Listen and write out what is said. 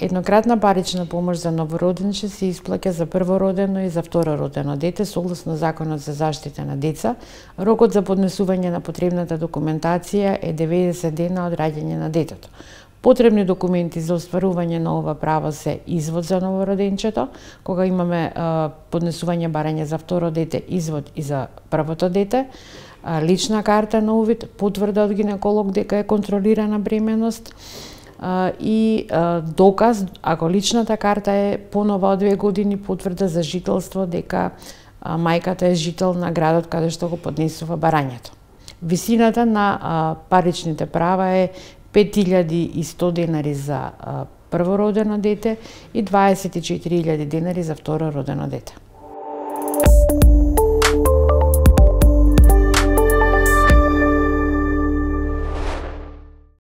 Еднократна парична помош за новороденче се исплаќа за првородено и за второродено дете согласно Законот за заштита на деца. Рокот за поднесување на потребната документација е 90 дена од раѓање на детето. Потребни документи за остварување на ова право се извод за новороденчето, кога имаме поднесување барање за второ дете, извод и за првото дете, лична карта на увид, потврда од гинеколог дека е контролирана бременост, и доказ, ако личната карта е понова од 2 години, потврда за жителство дека мајката е жител на градот каде што го поднесува барањето. Висината на паричните права е 5100 денари за првородено дете и 24.000 денари за второродено дете.